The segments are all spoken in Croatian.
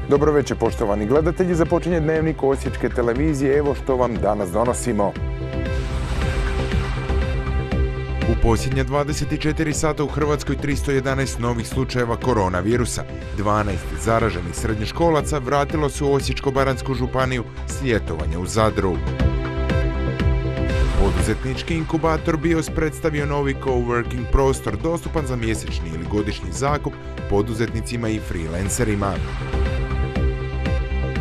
Dobro večer, poštovani gledatelji, započinje Dnevnik Osječke televizije. Evo što vam danas donosimo. U posljednja 24 sata u Hrvatskoj 311 novih slučajeva koronavirusa. 12 zaraženih srednjoškolaca vratilo se u Osječko-baranjsku županiju s ljetovanja u Zadru. Poduzetnički inkubator BIOS predstavio novi coworking prostor dostupan za mjesečni ili godišnji zakup poduzetnicima i freelancerima.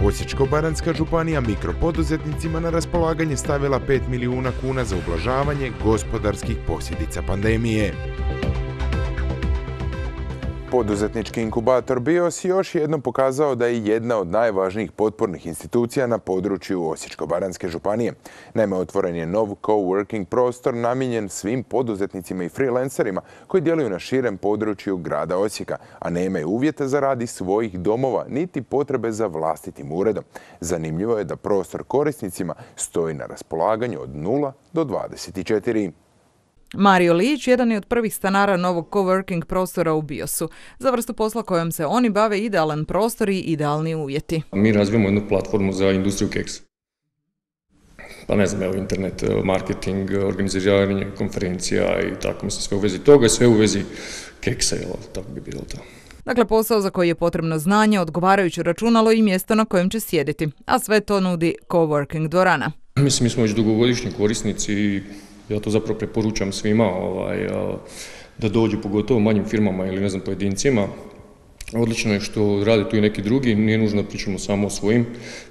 Osječko-baranjska županija mikropoduzetnicima na raspolaganje stavila 5 milijuna kuna za ublažavanje gospodarskih posljedica pandemije. Poduzetnički inkubator BIOS još jednom pokazao da je jedna od najvažnijih potpornih institucija na području Osječko-baranjske županije. Naime, otvoren je nov coworking prostor namijenjen svim poduzetnicima i freelancerima koji djeluju na širem području grada Osijeka, a nemaju uvjete za rad iz svojih domova niti potrebe za vlastitim uredom. Zanimljivo je da prostor korisnicima stoji na raspolaganju od 0 do 24. Mario Lijić jedan je od prvih stanara novog coworking prostora u BIOS-u. Za vrstu posla kojom se oni bave idealan prostor i idealni uvjeti. Mi razvijamo jednu platformu za industriju keksa. Pa ne znam, internet marketing, organiziranje konferencija i tako, mislim, sve u vezi toga, sve u vezi keksa, tako bi bilo to. Dakle, posao za koji je potrebno znanje, odgovarajuće računalo i mjesto na kojem će sjediti, a sve to nudi coworking dvorana. Mislim, mi smo već dugogodišnji korisnici i ja to zapravo preporučam svima da dođu, pogotovo manjim firmama ili ne znam, pojedincima. Odlično je što rade tu i neki drugi, nije nužno da pričamo samo o svojim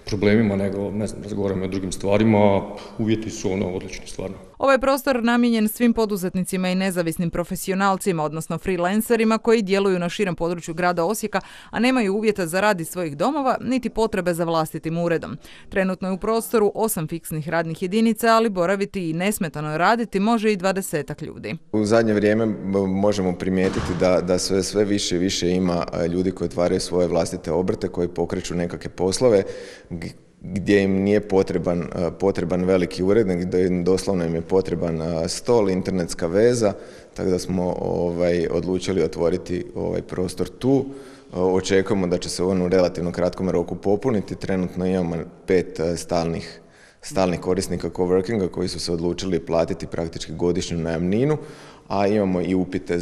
problemima, nego ne znam, razgovaramo o drugim stvarima, uvjeti su odlični stvarno. Ovaj prostor namijenjen svim poduzetnicima i nezavisnim profesionalcima, odnosno freelancerima koji djeluju na širem području grada Osijeka, a nemaju uvjeta za rad iz svojih domova, niti potrebe za vlastitim uredom. Trenutno je u prostoru 8 fiksnih radnih jedinica, ali boraviti i nesmetano raditi može i 20 ljudi. U zadnje vrijeme možemo primijetiti da sve više i više ima ljudi koji otvaraju svoje vlastite obrte, koji pokreću nekakve poslove gdje im nije potreban veliki ured, nego doslovno im je potreban stol, internetska veza, tako da smo odlučili otvoriti ovaj prostor tu. Očekujemo da će se on u relativno kratkom roku popuniti. Trenutno imamo 5 stalnih korisnika coworkinga koji su se odlučili platiti praktički godišnju najamninu, a imamo i upite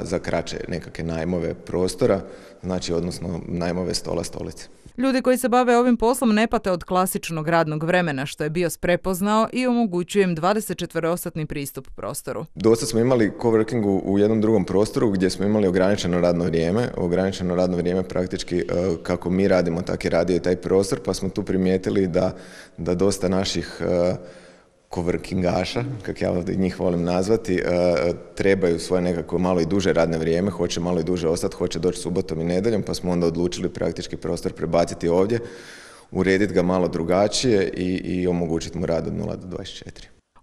za kraće nekakve najmove prostora, znači odnosno najmove stola, stolice. Ljudi koji se bave ovim poslom ne pate od klasičnog radnog vremena, što je BIOS prepoznao i omogućuje im 24-satni pristup prostoru. Dosta smo imali coworking u jednom drugom prostoru gdje smo imali ograničeno radno vrijeme. Ograničeno radno vrijeme praktički kako mi radimo, tako je radio i taj prostor, pa smo tu primijetili da dosta naših coworkingaša, kako ja njih volim nazvati, trebaju svoje nekako malo i duže radne vrijeme, hoće malo i duže ostati, hoće doći subotom i nedjeljom, pa smo onda odlučili praktički prostor prebaciti ovdje, urediti ga malo drugačije i omogućiti mu rad od 0 do 24.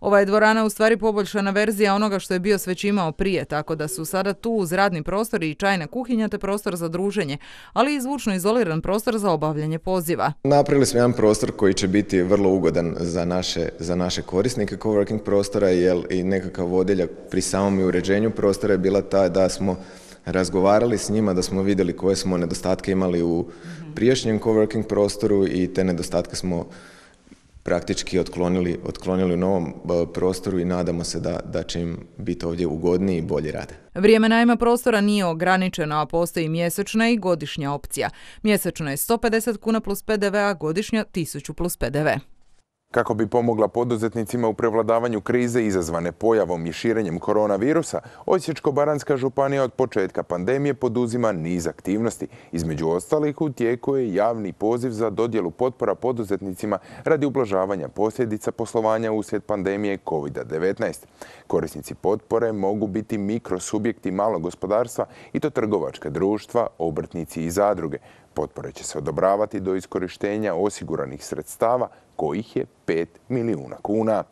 Ova je dvorana u stvari poboljšana verzija onoga što je BIOS već imao prije, tako da su sada tu uz radni prostor i čajna kuhinja te prostor za druženje, ali i zvučno izoliran prostor za obavljanje poziva. Napravili smo jedan prostor koji će biti vrlo ugodan za naše korisnike coworking prostora, jer i nekakav vodilja pri samom uređenju prostora je bila ta da smo razgovarali s njima, da smo vidjeli koje smo nedostatke imali u prijašnjem coworking prostoru i te nedostatke smo praktički otklonili u novom prostoru i nadamo se da će im biti ovdje ugodniji i bolji rade. Vrijeme najma prostora nije ograničeno, a postoji mjesečna i godišnja opcija. Mjesečno je 150 kuna plus PDV, a godišnja 1000 plus PDV. Kako bi pomogla poduzetnicima u prevladavanju krize izazvane pojavom i širenjem koronavirusa, Osječko-baranjska županija od početka pandemije poduzima niz aktivnosti. Između ostalih, u tijeku je javni poziv za dodjelu potpora poduzetnicima radi ublažavanja posljedica poslovanja uslijed pandemije COVID-19. Korisnici potpore mogu biti mikrosubjekti malog gospodarstva i to trgovačka društva, obrtnici i zadruge. Potpore će se odobravati do iskorištenja osiguranih sredstava, kojih je 5 milijuna kuna.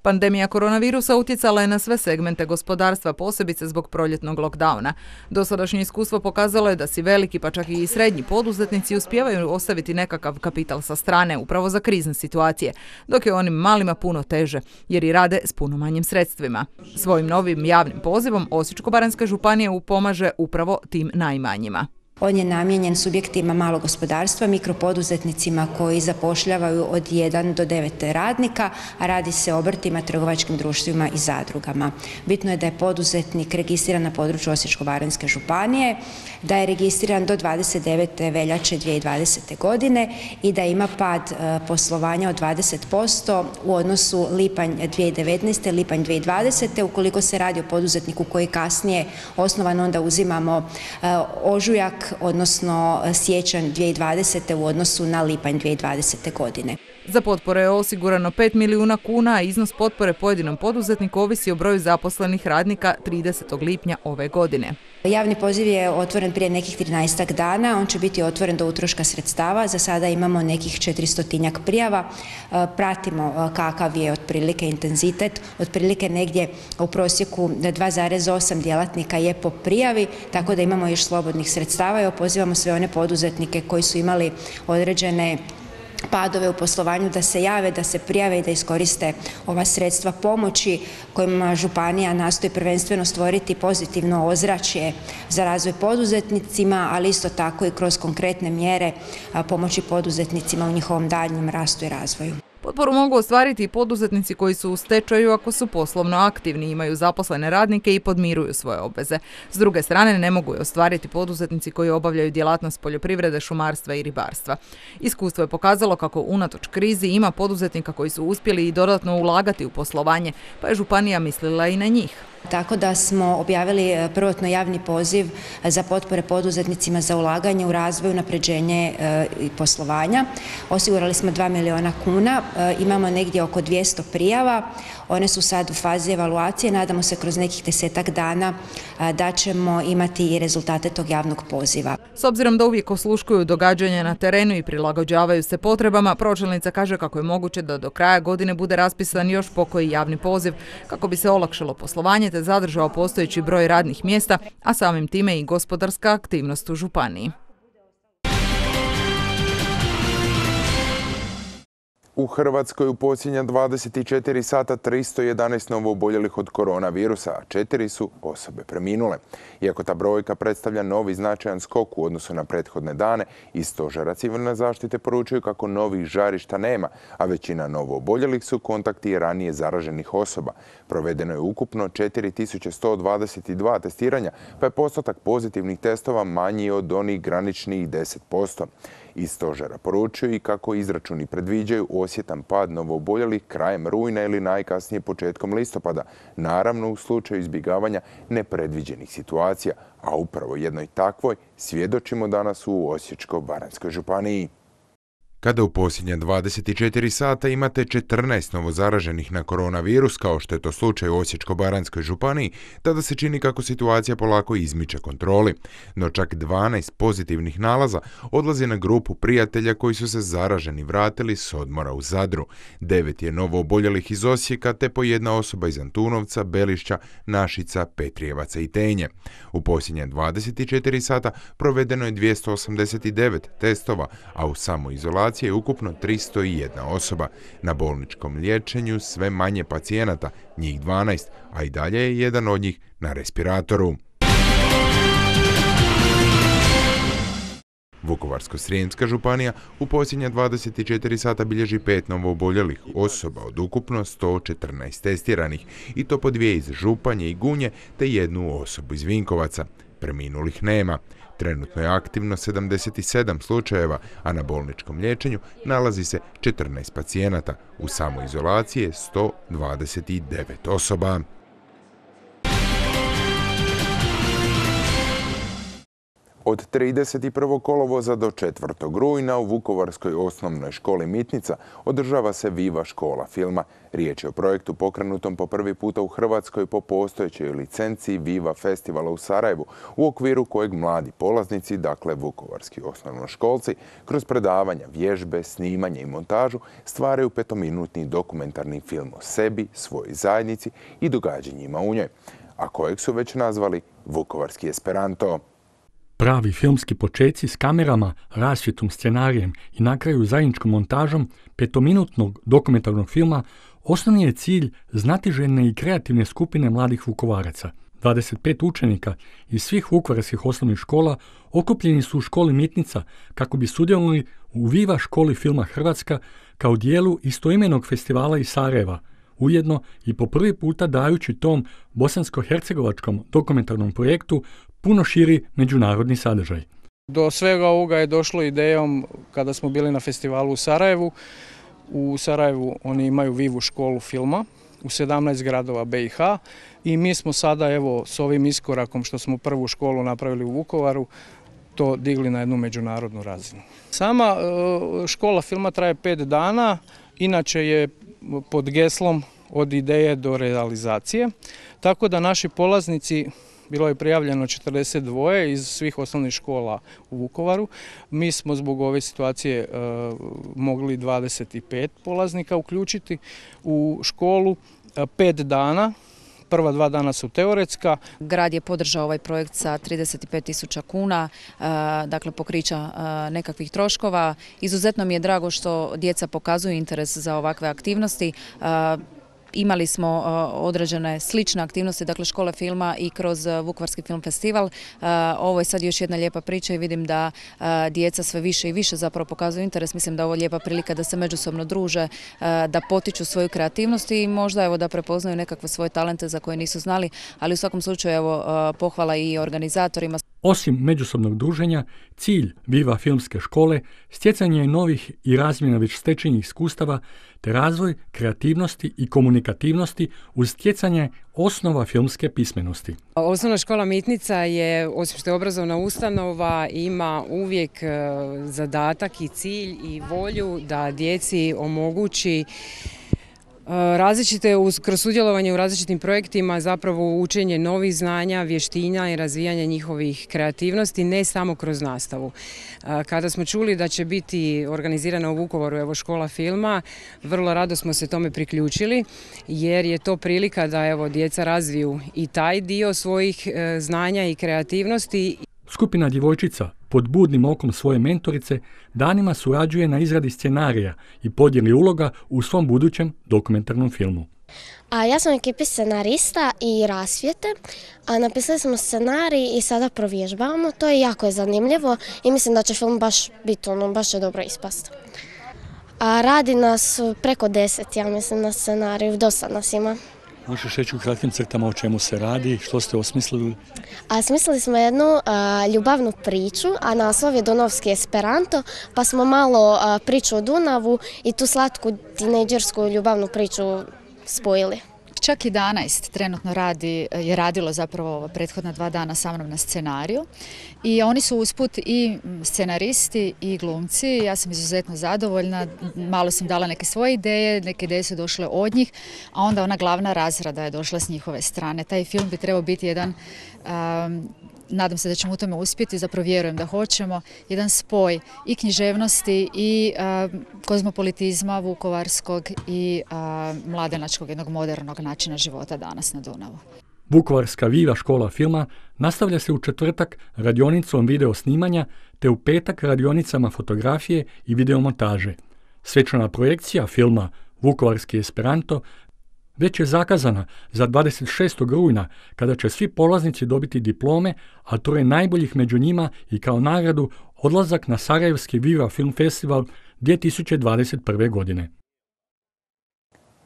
Pandemija koronavirusa utjecala je na sve segmente gospodarstva, posebice zbog proljetnog lockdowna. Dosadašnje iskustvo pokazalo je da si veliki, pa čak i srednji poduzetnici uspijevaju ostaviti nekakav kapital sa strane upravo za krizne situacije, dok je onim malima puno teže, jer i rade s puno manjim sredstvima. Svojim novim javnim pozivom Osječko-baranjska županija pomaže upravo tim najmanjima. On je namijenjen subjektima malog gospodarstva, mikropoduzetnicima koji zapošljavaju od 1 do 9 radnika, a radi se o obrtima, trgovačkim društvima i zadrugama. Bitno je da je poduzetnik registriran na području Osječko-baranjske županije, da je registriran do 29. veljače 2020. godine i da ima pad poslovanja od 20% u odnosu lipanj 2019. lipanj 2020. Ukoliko se radi o poduzetniku koji je kasnije osnovan, onda uzimamo ožujak, odnosno siječanj 2020. u odnosu na lipanj 2020. godine. Za potpore je osigurano 5 milijuna kuna, a iznos potpore pojedinom poduzetniku ovisi o broju zaposlenih radnika 30. lipnja ove godine. Javni poziv je otvoren prije nekih 13 dana, on će biti otvoren do utroška sredstava, za sada imamo nekih 400 prijava, pratimo kakav je otprilike intenzitet, otprilike negdje u prosjeku 2,8 djelatnika je po prijavi, tako da imamo još slobodnih sredstava i pozivamo sve one poduzetnike koji su imali određene padove u poslovanju da se jave, da se prijave i da iskoriste ova sredstva pomoći kojima županija nastoji prvenstveno stvoriti pozitivno ozračje za razvoj poduzetnicima, ali isto tako i kroz konkretne mjere pomoći poduzetnicima u njihovom daljnjem rastu i razvoju. Potporu mogu ostvariti i poduzetnici koji su u stečaju ako su poslovno aktivni, imaju zaposlene radnike i podmiruju svoje obveze. S druge strane, ne mogu je ostvariti poduzetnici koji obavljaju djelatnost poljoprivrede, šumarstva i ribarstva. Iskustvo je pokazalo kako unatoč krizi ima poduzetnika koji su uspjeli i dodatno ulagati u poslovanje, pa je županija mislila i na njih. Tako da smo objavili prvotno javni poziv za potpore poduzetnicima za ulaganje u razvoj, unapređenje i poslovanja. Osigurali smo 2 milijuna kuna, imamo negdje oko 200 prijava, one su sad u fazi evaluacije, nadamo se kroz nekih 10-ak dana da ćemo imati i rezultate tog javnog poziva. S obzirom da uvijek osluškuju događanja na terenu i prilagođavaju se potrebama, pročelnica kaže kako je moguće da do kraja godine bude raspisan još pokoji javni poziv kako bi se olakšalo poslovanje te zadržao postojeći broj radnih mjesta, a samim time i gospodarska aktivnost u županiji. U Hrvatskoj u posljednja 24 sata 311 novooboljelih od koronavirusa, a 4 su osobe preminule. Iako ta brojka predstavlja novi značajan skok u odnosu na prethodne dane, iz Stožera civilne zaštite poručuju kako novih žarišta nema, a većina novooboljelih su kontakti ranije zaraženih osoba. Provedeno je ukupno 4122 testiranja, pa je postotak pozitivnih testova manji od onih graničnih 10%. Iz Stožera poručuju i kako izračuni predviđaju osjetan pad novooboljelih krajem rujna ili najkasnije početkom listopada, naravno u slučaju izbjegavanja nepredviđenih situacija, a upravo jednoj takvoj svjedočimo danas u Osječko-baranjskoj županiji. Kada u posljednja 24 sata imate 14 novozaraženih na koronavirus, kao što je to slučaj u Osječko-baranjskoj županiji, tada se čini kako situacija polako izmiče kontroli. No čak 12 pozitivnih nalaza odlazi na grupu prijatelja koji su se zaraženi vratili s odmora u Zadru. 9 je novooboljelih iz Osijeka, te po jedna osoba iz Antunovca, Belišća, Našica, Petrijevaca i Tenje. U posljednje 24 sata provedeno je 289 testova, a u samoizolaciji je ukupno 301 osoba. Na bolničkom liječenju sve manje pacijenata, njih 12, a i dalje je jedan od njih na respiratoru. Vukovarsko-srijemska županija u posljednja 24 sata bilježi 5 novooboljelih osoba od ukupno 114 testiranih, i to po 2 iz Županje i Gunje te 1 osobu iz Vinkovaca. Preminulih nema. Trenutno je aktivno 77 slučajeva, a na bolničkom liječenju nalazi se 14 pacijenata. U samoizolaciji je 129 osoba. Od 31. kolovoza do 4. rujna u Vukovarskoj osnovnoj školi Mitnica održava se Viva škola filma. Riječ je o projektu pokrenutom po prvi puta u Hrvatskoj po postojećoj licenciji Viva festivala u Sarajevu, u okviru kojeg mladi polaznici, dakle vukovarski osnovnoškolci, kroz predavanja, vježbe, snimanje i montažu stvaraju 5-minutni dokumentarni film o sebi, svojoj zajednici i događanjima u njoj, a kojeg su već nazvali Vukovarski Esperanto. Pravi filmski počeci s kamerama, rasvjetom, scenarijem i na kraju zajedničkom montažom 5-minutnog dokumentarnog filma osnovni je cilj znatiželjne i kreativne skupine mladih Vukovaraca 25 učenika iz svih vukovarskih osnovnih škola okupljeni su u školi Mitnica kako bi sudjelovali u Viva školi filma Hrvatska kao dijelu istoimenog festivala iz Sarajeva, ujedno i po prvi puta dajući tom bosansko-hercegovačkom dokumentarnom projektu puno širi međunarodni sadržaj. Do svega ovoga je došlo idejom kada smo bili na festivalu u Sarajevu. U Sarajevu oni imaju Vivu školu filma u 17 gradova BiH i mi smo sada evo s ovim iskorakom što smo prvu školu napravili u Vukovaru to digli na jednu međunarodnu razinu. Sama škola filma traje 5 dana, inače je pod geslom od ideje do realizacije, tako da naši polaznici, bilo je prijavljeno 42 iz svih osnovnih škola u Vukovaru. Mi smo zbog ove situacije mogli 25 polaznika uključiti u školu. 5 dana, prva 2 dana su teoretska. Grad je podržao ovaj projekt sa 35.000 kuna, dakle pokrića nekakvih troškova. Izuzetno mi je drago što djeca pokazuju interes za ovakve aktivnosti. Imali smo određene slične aktivnosti, dakle škole filma i kroz Vukovarski film festival. Ovo je sad još jedna lijepa priča i vidim da djeca sve više i više zapravo pokazuju interes. Mislim da ovo je lijepa prilika da se međusobno druže, da potiču svoju kreativnost i možda evo da prepoznaju nekakve svoje talente za koje nisu znali, ali u svakom slučaju evo pohvala i organizatorima. Osim međusobnog druženja, cilj Viva filmske škole stjecanje je novih i razmjena već stečenih iskustava te razvoj kreativnosti i komunikativnosti uz stjecanje osnova filmske pismenosti. Osnovna škola Mitnica je, osim što je obrazovna ustanova, ima uvijek zadatak i cilj i volju da djeci omogući različite, kroz sudjelovanje u različitim projektima zapravo učenje novih znanja, vještina i razvijanje njihovih kreativnosti, ne samo kroz nastavu. Kada smo čuli da će biti organizirana u Vukovaru evo škola filma, vrlo rado smo se tome priključili jer je to prilika da evo djeca razviju i taj dio svojih znanja i kreativnosti. Skupina djevojčica pod budnim okom svoje mentorice danima surađuje na izradi scenarija i podjeli uloga u svom budućem dokumentarnom filmu. Ja sam u ekipi scenarista i rasvjete, napisali smo scenarij i sada provježbavamo. To je jako zanimljivo i mislim da će film baš će dobro ispasti. Radi nas preko 10, ja mislim, na scenariju, dosta nas ima. Možeš reći u kratkim crtama o čemu se radi, što ste osmislili? Smislili smo jednu ljubavnu priču, a naslov je Donovski Esperanto, pa smo malo priču o Dunavu i tu slatku tinejdžersku ljubavnu priču spojili. Čak 11 trenutno je radilo zapravo prethodna 2 dana sa mnom na scenariju i oni su usput i scenaristi i glumci. Ja sam izuzetno zadovoljna, malo sam dala neke svoje ideje, neke ideje su došle od njih, a onda ona glavna razrada je došla s njihove strane. Taj film bi trebao biti jedan, nadam se da ćemo u tome uspjeti, zapravo vjerujem da hoćemo, jedan spoj i književnosti i kozmopolitizma vukovarskog i mladenačkog jednog modernog načina života danas na Dunavu. Vukovarska Viva škola filma nastavlja se u četvrtak radionicom video snimanja te u petak radionicama fotografije i videomontaže. Svečana projekcija filma Vukovarski Esperanto već je zakazana za 26. rujna kada će svi polaznici dobiti diplome, a to je najboljih među njima i kao nagradu odlazak na Sarajevski Viva Film Festival 2021. godine.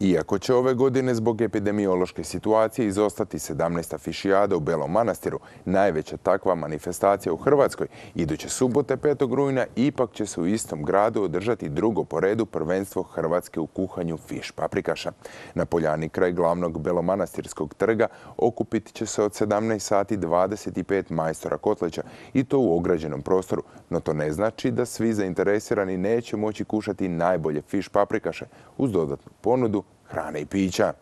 Iako će ove godine zbog epidemiološke situacije izostati 17. fišijada u Belom Manastiru, najveća takva manifestacija u Hrvatskoj, iduće subote 5. rujna ipak će se u istom gradu održati drugo po redu prvenstvo Hrvatske u kuhanju fiš paprikaša. Na poljani kraj glavnog Belomanastirskog trga okupit će se od 17 sati 25 majstora kotlića i to u ograđenom prostoru, no to ne znači da svi zainteresirani neće moći kušati najbolje fiš paprikaše uz dodatnu ponudu hrane i pića.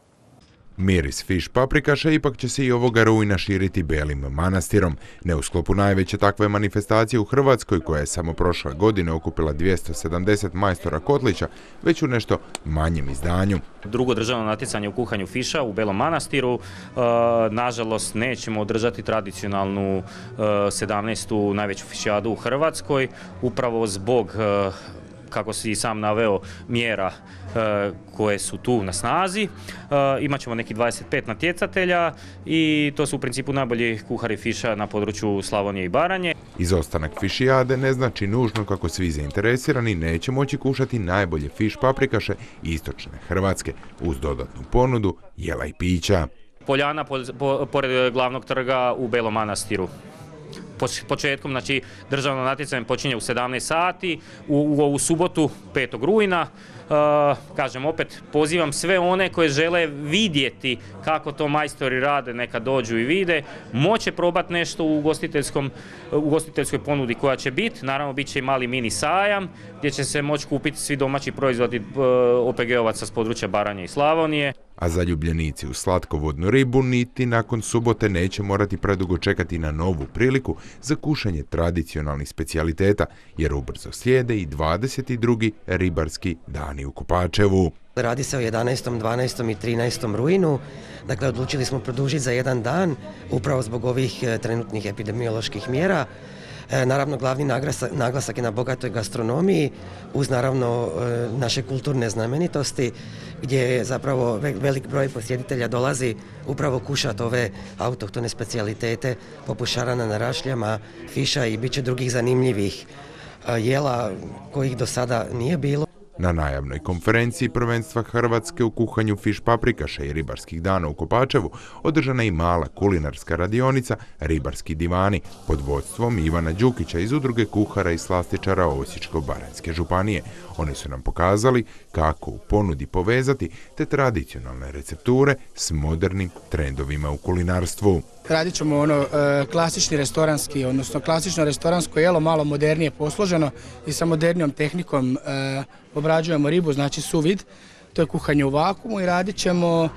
Miris fiš paprikaša ipak će se i ovoga rujna širiti Belim Manastirom. Ne u sklopu najveće takve manifestacije u Hrvatskoj, koja je samo prošle godine okupila 270 majstora kotlića, već u nešto manjem izdanju. Drugo državno natjecanje u kuhanju fiša u Belom Manastiru. Nažalost, nećemo održati tradicionalnu 17. najveću fišijadu u Hrvatskoj, upravo zbog kako si sam naveo, mjera koje su tu na snazi. Imat ćemo neki 25 natjecatelja i to su u principu najbolji kuhari fiša na području Slavonije i Baranje. Izostanak fišijade ne znači nužno kako svi zainteresirani neće moći kušati najbolje fiš paprikaše istočne Hrvatske uz dodatnu ponudu jela i pića. Poljana pored glavnog trga u Belom Manastiru. Početkom, znači državno natjecanje počinje u 17 sati, u subotu 5. rujna. Kažem, opet pozivam sve one koji žele vidjeti kako to majstori rade, neka dođu i vide. Moće probati nešto u ugostiteljskoj ponudi koja će biti. Naravno, bit će i mali mini sajam gdje će se moći kupiti svi domaći proizvodi OPG-ovaca s područja Baranje i Slavonije. A zaljubljenici u slatkovodnu ribu niti nakon subote neće morati predugo čekati na novu priliku za kušanje tradicionalnih specijaliteta, jer ubrzo slijede i 22. ribarski dani u Kopačevu. Radi se o 11., 12. i 13. rujnu, dakle odlučili smo produžiti za jedan dan, upravo zbog ovih trenutnih epidemioloških mjera. Naravno, glavni naglasak je na bogatoj gastronomiji, uz naravno naše kulturne znamenitosti, gdje zapravo velik broj posjetitelja dolazi upravo kušati ove autohtone specijalitete poput šarana na rašljama, fiša i bit će drugih zanimljivih jela kojih do sada nije bilo. Na najavnoj konferenciji prvenstva Hrvatske u kuhanju fiš paprikaša i ribarskih dana u Kopačevu održana je i mala kulinarska radionica Ribarski divani pod vodstvom Ivana Đukića iz Udruge kuhara i slastičara Osječko-baranjske županije. Oni su nam pokazali kako u ponudi povezati te tradicionalne recepture s modernim trendovima u kulinarstvu. Radit ćemo klasični restoranski, odnosno klasično restoransko jelo, malo modernije posloženo i sa modernijom tehnikom obrađujemo ribu, znači suvid, to je kuhanje u vakuumu, i radit ćemo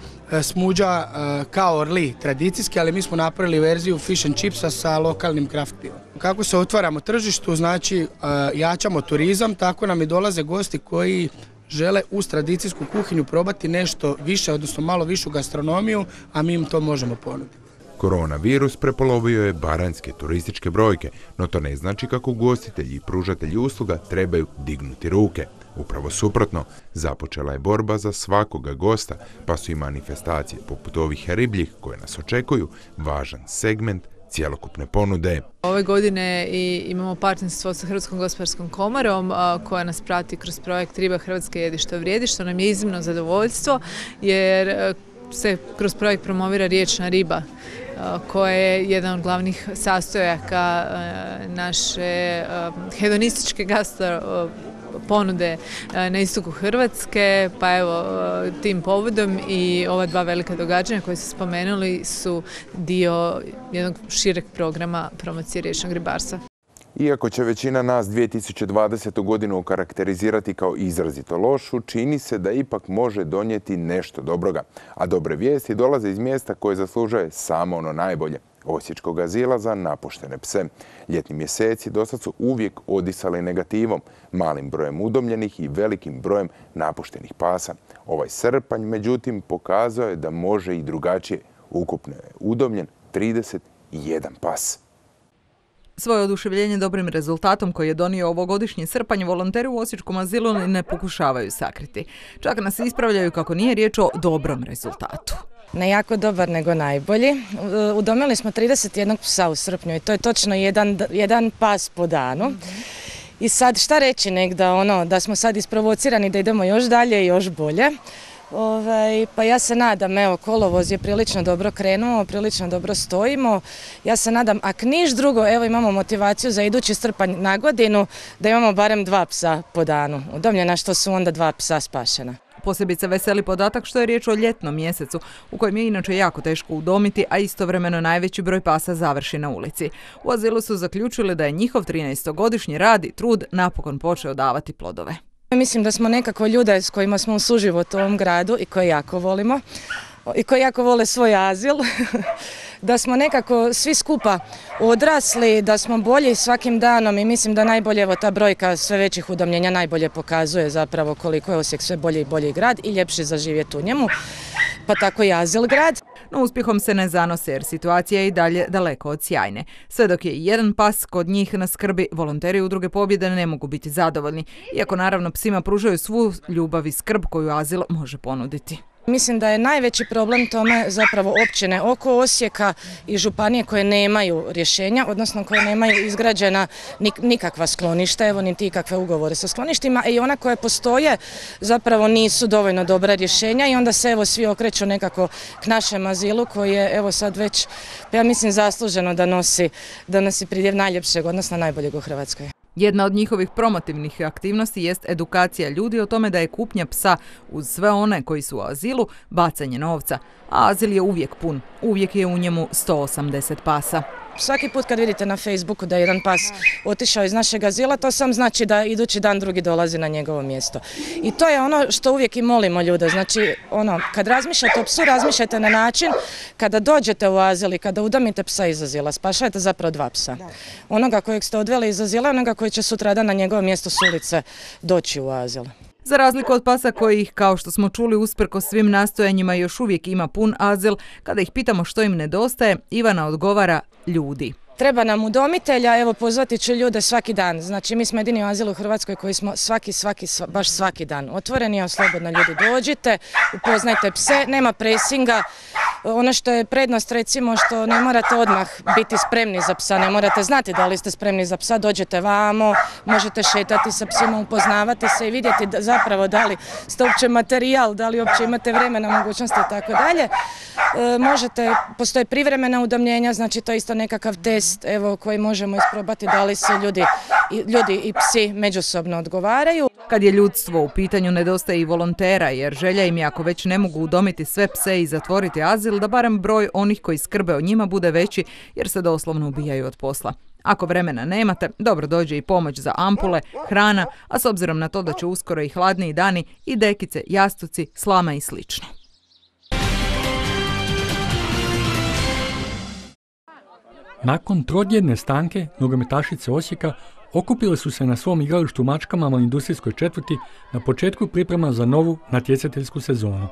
smuđa kao orli tradicijski, ali mi smo napravili verziju fish and chipsa sa lokalnim craft pivom. Kako se otvaramo tržištu, znači jačamo turizam, tako nam i dolaze gosti koji žele uz tradicijsku kuhinju probati nešto više, odnosno malo višu gastronomiju, a mi im to možemo ponuditi. Koronavirus prepolovio je baranjske turističke brojke, no to ne znači kako ugostitelji i pružatelji usluga trebaju dignuti ruke. Upravo suprotno, započela je borba za svakoga gosta, pa su i manifestacije poput ovih ribljih koje nas očekuju važan segment cjelokupne ponude. Ove godine imamo partnerstvo sa Hrvatskom gospodarskom komorom koja nas prati kroz projekt Riba Hrvatske jedi što vrijedi, što nam je iznimno zadovoljstvo jer se kroz projekt promovira riječna riba koja je jedan od glavnih sastojaka naše hedonističke gastro ponude na istoku Hrvatske, pa evo tim povodom i ova dva velika događanja koje ste spomenuli su dio jednog šireg programa promocije riječnog ribarstva. Iako će većina nas 2020. godinu okarakterizirati kao izrazito lošu, čini se da ipak može donijeti nešto dobroga. A dobre vijesti dolaze iz mjesta koje zaslužuje samo ono najbolje. Osječkog azila za napuštene pse. Ljetni mjeseci dosad su uvijek odisali negativom, malim brojem udomljenih i velikim brojem napuštenih pasa. Ovaj srpanj, međutim, pokazao je da može i drugačije. Ukupno je udomljen 31 pas. Svoje oduševljenje dobrim rezultatom koji je donio ovogodišnji srpanj volonteri u Osječkom azilu ne pokušavaju sakriti. Čak nas ispravljaju kako nije riječ o dobrom rezultatu. Ne jako dobar, nego najbolji. Udomili smo 31 psa u srpnju i to je točno jedan pas po danu. I sad šta reći da smo sad isprovocirani da idemo još dalje i još bolje. Pa ja se nadam, kolovoz je prilično dobro krenuo, prilično dobro stojimo. Ja se nadam, ako niš drugo, imamo motivaciju za idući srpanj na godinu da imamo barem 2 psa po danu udomljena, što su onda 2 psa spašena. Posebice veseli podatak što je riječ o ljetnom mjesecu, u kojem je inače jako teško udomiti, a istovremeno najveći broj pasa završi na ulici. U azilu su zaključili da je njihov 13-godišnji rad i trud napokon počeo davati plodove. Mislim da smo nekako ljude s kojima smo u suživotu u ovom gradu i koje jako volimo i koji jako vole svoj azil, da smo nekako svi skupa odrasli, da smo bolji svakim danom i mislim da najbolje ta brojka sve većih udomljenja najbolje pokazuje zapravo koliko je Osijek sve bolji i bolji grad i ljepši za živjeti u njemu, pa tako i azil grad. no uspjehom se ne zanose jer situacija je i dalje daleko od sjajne. Sve dok je jedan pas kod njih na skrbi, volonteri Udruge Pobjede ne mogu biti zadovoljni, iako naravno psima pružaju svu ljubav i skrb koju azil može ponuditi. Mislim da je najveći problem tome zapravo općine oko Osijeka i županije koje nemaju rješenja, odnosno koje nemaju izgrađena nikakva skloništa, evo niti ikakve ugovore sa skloništima, i ona koje postoje zapravo nisu dovoljno dobra rješenja i onda se evo svi okreću nekako k našem azilu koji je evo sad već, ja mislim, zasluženo da nosi pridjev najljepšeg, odnosno najboljeg u Hrvatskoj. Jedna od njihovih promotivnih aktivnosti jest edukacija ljudi o tome da je kupnja psa uz sve one koji su u azilu bacanje novca, a azil je uvijek pun, uvijek je u njemu 180 pasa. Svaki put kad vidite na Facebooku da je jedan pas otišao iz našeg azila, to sam znači da idući dan drugi dolazi na njegovo mjesto. I to je ono što uvijek i molimo ljude. Znači, kad razmišljate o psu, razmišljate na način kada dođete u azil i kada udomite psa iz azila, spašajte zapravo dva psa. Onoga kojeg ste odveli iz azila, onoga koji će sutradan na njegovo mjesto s ulice doći u azil. Za razliku od pasa kojih, kao što smo čuli, usprkos svim nastojanjima još uvijek ima pun azil, kada ih pitamo što im nedostaje, Ivana odgovara: ljudi. Treba nam udomitelja, evo pozvati ću ljude svaki dan. Znači mi smo jedini azil u Hrvatskoj koji smo baš svaki dan otvoreni, a slobodno ljudi dođite, upoznajte pse, nema presinga. Ono što je prednost, recimo, što ne morate odmah biti spremni za psa, ne morate znati da li ste spremni za psa, dođete vamo, možete šetati sa psima, upoznavati se i vidjeti zapravo da li ste uopće materijal, da li uopće imate vremena, mogućnosti i tako dalje. Postoje privremena udomljenja, znači to je isto nekakav test koji možemo isprobati da li se ljudi i psi međusobno odgovaraju. Kad je ljudstvo u pitanju, nedostaje i volontera, jer želja im je, ako već ne mogu udomiti sve pse i zatvoriti azil, da barem broj onih koji skrbe o njima bude veći, jer se doslovno ubijaju od posla. Ako vremena nemate, dobro dođe i pomoć za ampule, hrana, a s obzirom na to da će uskoro i hladniji dani, i dekice, jastuci, slama i slično. Nakon trodjedne stanke, nogometašice Osijeka okupile su se na svom igralištu u Mačkama u industrijskoj četvrti na početku priprema za novu natjecateljsku sezonu.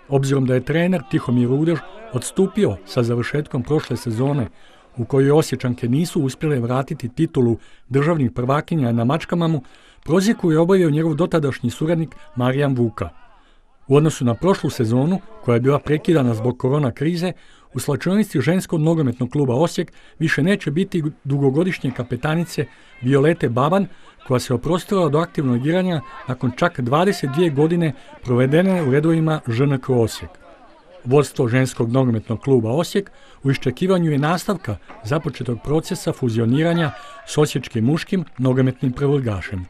Obzirom da je trener Tihomir Rudež odstupio sa završetkom prošle sezone u kojoj Osječanke nisu uspjele vratiti titulu državnih prvakinja na Mačkamamu, prozjeku je obavio njegov dotadašnji suradnik Marijan Vuka. U odnosu na prošlu sezonu, koja je bila prekidana zbog korona krize, u slačionici ženskog nogometnog kluba Osijek više neće biti dugogodišnje kapetanice Violete Baban, koja se oprostila od aktivnog igranja nakon čak 22 godine provedene u redovima ŽNK Osijek. Vodstvo ženskog nogometnog kluba Osijek u iščekivanju je nastavka započetog procesa fuzioniranja s osječkim muškim nogometnim prvoligašem.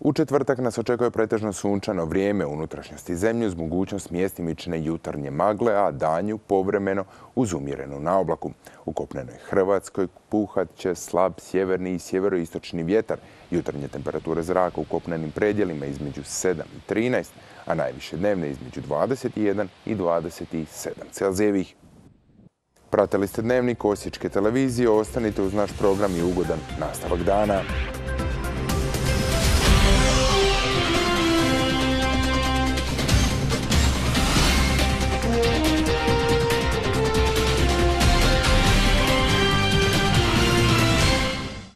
U četvrtak nas očekuje pretežno sunčano vrijeme u unutrašnjosti zemlje uz mogućnost mjestimične jutarnje magle, a danju povremeno uz umjerenu naoblaku. U kopnenoj Hrvatskoj puhat će slab sjeverni i sjeveroistočni vjetar. Jutarnje temperature zraka u kopnenim predjelima između 7 i 13, a najviše dnevne između 21 i 27 Celzijevih. Pratili ste Dnevnik Osječke televizije, ostanite uz naš program i ugodan nastavak dana.